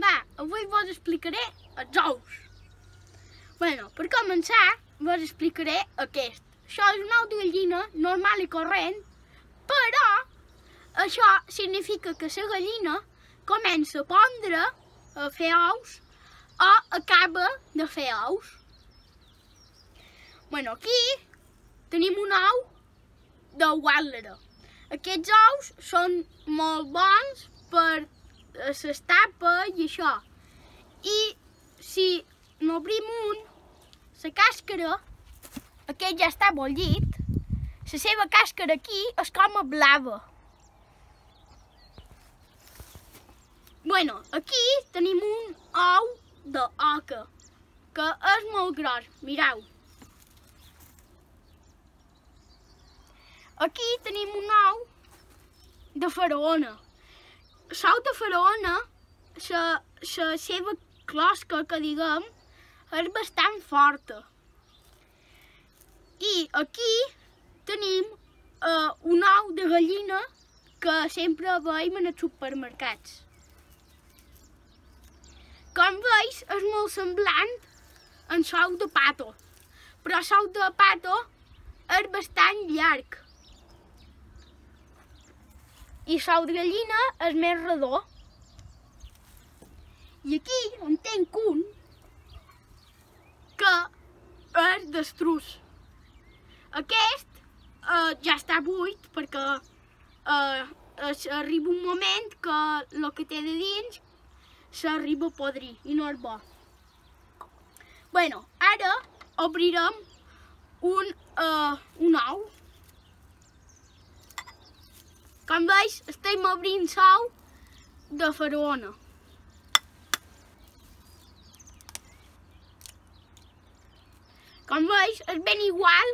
va, avui vos explicaré els ous. Bueno, per començar, vos explicaré aquest. Això és un ou de gallina normal i corrent, però això significa que la gallina comença a pondre, a fer ous, o acaba de fer ous. Bueno, aquí tenim un ou de Wàlera. Aquests ous són molt bons per l'estapa i això. I si n'obrim un, la càscara, aquest ja està bullit, la seva càscara aquí és com a blava. Bueno, aquí tenim un ou d'oca, que és molt gros, mireu. Aquí tenim un ou de faraona. L'ou de faraona, la seva closca, que diguem, és bastant forta. I aquí tenim un ou de gallina que sempre veiem en els supermercats. Com veus, és molt semblant a l'ou de pato, però l'ou de pato és bastant llarg. I l'ou de gallina és més redó. I aquí en tinc un que és d'estruç. Aquest ja està buit perquè arriba un moment que el que té de dins s'arriba a podrir i no és bo. Bueno, ara obrirem un ou. Com veus, estem obrint l'ou de faraona. Com veus, és ben igual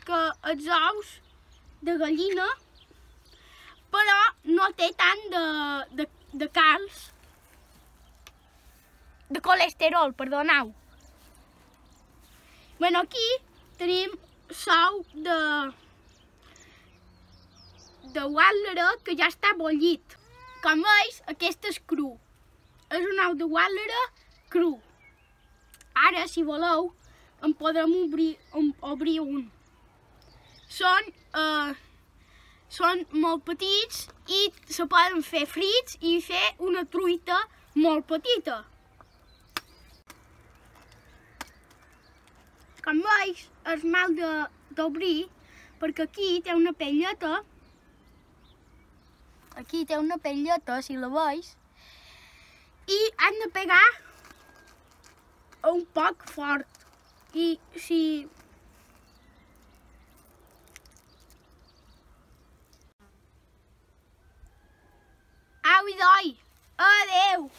que els ous de gallina, però no té tant de calç, de colesterol, perdoneu. Bueno, aquí tenim l'ou de Wàlera que ja està bullit. Com veus, aquest és cru. És un ou de Wàlera cru. Ara, si voleu, en podem obrir un. Són molt petits i se poden fer frits i fer una truita molt petita. Com veus, és mal d'obrir perquè aquí té una pelleta. Aquí té una pelleta, si la veus, i han de pegar un poc fort. I si... Au i doi! Adeu!